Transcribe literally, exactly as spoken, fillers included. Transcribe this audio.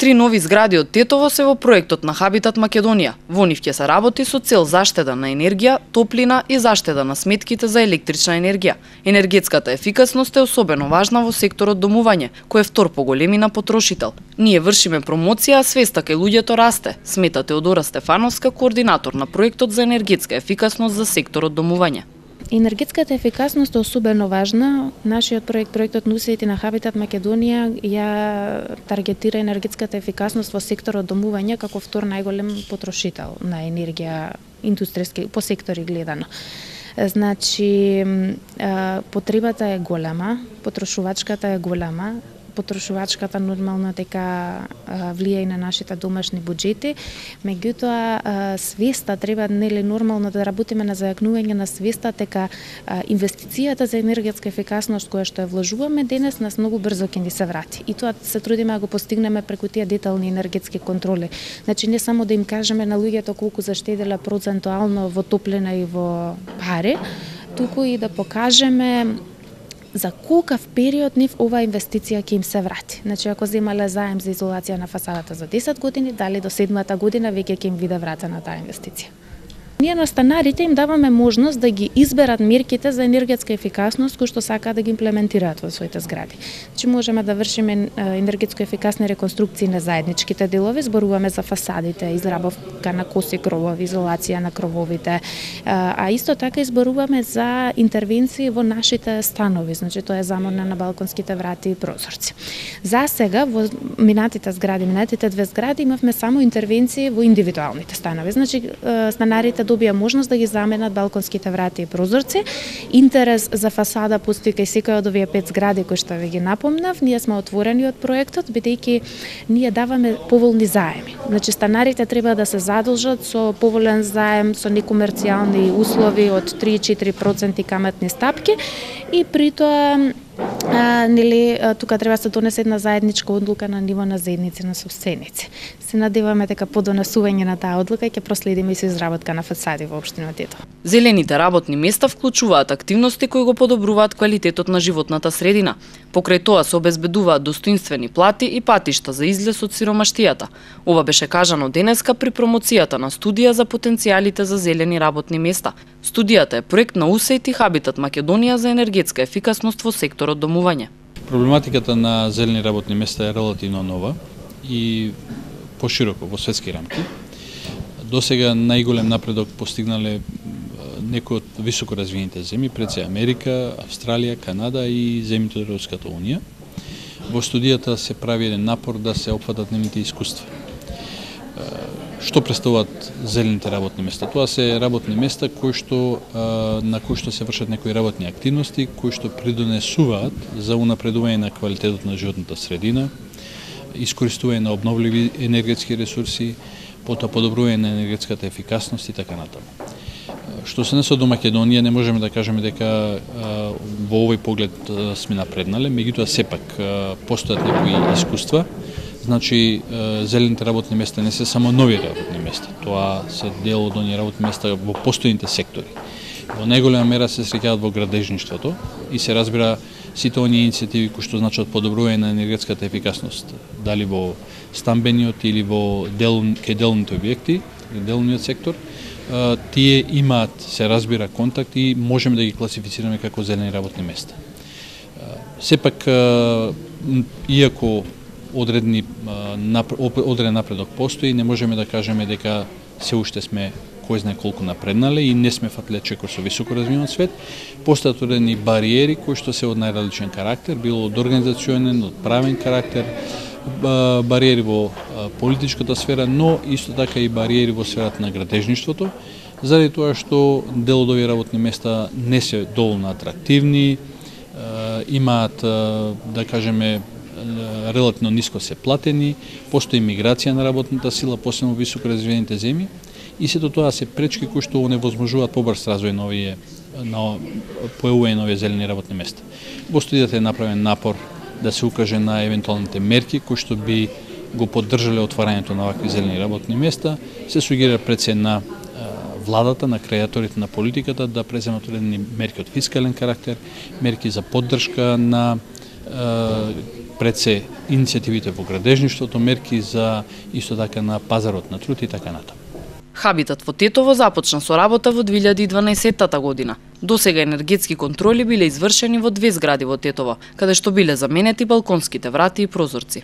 Три нови згради од Тетово се во проектот на Хабитат Македонија. Во нив ќе се работи со цел заштеда на енергија, топлина и заштеда на сметките за електрична енергија. Енергетската ефикасност е особено важна во секторот домување, кој е втор по големина потрошител. Ние вршиме промоција, а свеста кај луѓето расте, смета Теодора Стефановска, координатор на проектот за енергетска ефикасност за секторот домување. Енергетската ефикасност е особено важна. Нашиот проект, проектот Нусети на Хабитат Македонија, ја таргетира енергетската ефикасност во секторот домување како втор најголем потрошител на енергија индустријски по сектори гледано. Значи, потребата е голема, потрошувачката е голема. Потрошувачката нормално дека влија и на нашите домашни буџети, меѓутоа свеста треба нели нормално да работиме на зајакнување на свеста дека инвестицијата за енергетска ефикасност која што ја вложуваме денес нас многу брзо ќе ни се врати. И тоа се трудиме да го постигнеме преку тие детални енергетски контроли. Значи не само да им кажеме на луѓето колку заштедела процентуално во топлина и во пари, туку и да покажеме за колкав период нив оваа инвестиција ќе им се врати. Значи, ако земале заем за изолација на фасадата за десет години, дали до седмата година веќе ќе им биде вратена таа инвестиција. Ние на станарите им даваме можност да ги изберат мерките за енергетска ефикасност кои што сакаат да ги имплементираат во своите згради. Значи можеме да вршиме енергетско ефикасни реконструкции на заедничките делови, зборуваме за фасадите, изработка на коси кровови, изолација на крововите, а исто така изборуваме за интервенции во нашите станови, значи тоа е заморна на балконските врати и прозорци. За сега во минатите згради, минатите две згради имавме само интервенции во индивидуалните станови. Значи станарите добија можност да ги заменат балконските врати и прозорци. Интерес за фасада постои кај секој од овие пет згради кои што ви ги напомнав. Ние сме отворени од проектот бидејќи ние даваме поволни заеми. Значи станарите треба да се задолжат со поволен заем со некомерцијални услови од три до четири проценти каматни стапки и при тоа А, нели, тука треба да се донесе една заедничка одлука на ниво на заедници на собственици. Се надеваме дека по донесување на таа одлука ќе проследиме и со изработка на фасади во општина Тетово. Зелените работни места вклучуваат активности кои го подобруваат квалитетот на животната средина. Покрај тоа се обезбедуваат достоинствени плати и патишта за излез од сиромаштијата. Ова беше кажано денеска при промоцијата на студија за потенцијалите за зелени работни места. Студијата е проект на УСАИД и Хабитат Македонија за енергетска ефикасност во секторот домување. Проблематиката на зелени работни места е релативно нова и пошироко во светски рамки. Досега најголем напредок постигнале некои од високо развиените земји, пред се Америка, Австралија, Канада и земјите од Европската унија. Во студијата се прави еден напор да се опфатат нивните искуства. Што представуваат зелените работни места? Тоа се работни места кои што на кои што се вршат некои работни активности, кои што придонесуваат за унапредување на квалитетот на животната средина, искористување на обновливи енергетски ресурси, потоа подобрување на енергетската ефикасност и така натаму. Што се насоди до Македонија, не можеме да кажеме дека во овој поглед сме напреднале, меѓутоа сепак постојат некои искуства. Значи, зелените работни места не се само нови работни места, тоа се дел од оние работни места во постојните сектори. Во најголема мера се среќаат во градежништвото и се разбира сите оние иницијативи кои што значат подобрување на енергетската ефикасност, дали во стамбениот или во дел, кај делните објекти, делниот сектор, тие имаат, се разбира, контакт и можеме да ги класифицираме како зелени работни места. Сепак, иако одредни одреден напредок постои, не можеме да кажеме дека се уште сме кој знае колку напреднале и не сме фатле чекор со високо развиен свет. Постојат одредени бариери кои што се од најразличен карактер, било од организационен, од правен карактер, бариери во политичката сфера, но исто така и бариери во сферата на градежништвото, заради тоа што дел од овие работни места не се доволно атрактивни, имаат, да кажеме, релативно ниско се платени, постои миграција на работната сила, посебно во високо развиените земји, и сето тоа се пречки кои што оневозможуваат побрз развој на овие на појавување на овие зелени работни места. Во студијата е направен напор да се укаже на евентуалните мерки кои што би го поддржале отварањето на вакви зелени работни места. Се сугерира пред се на владата, на креаторите на политиката да преземат одредени мерки од фискален карактер, мерки за поддршка на пред се иницијативите во градежништвото, мерки за исто така на пазарот на труд и така натаму. Хабитат во Тетово започна со работа во две илјади и дванаесетта година. Досега енергетски контроли биле извршени во две згради во Тетово, каде што биле заменети балконските врати и прозорци.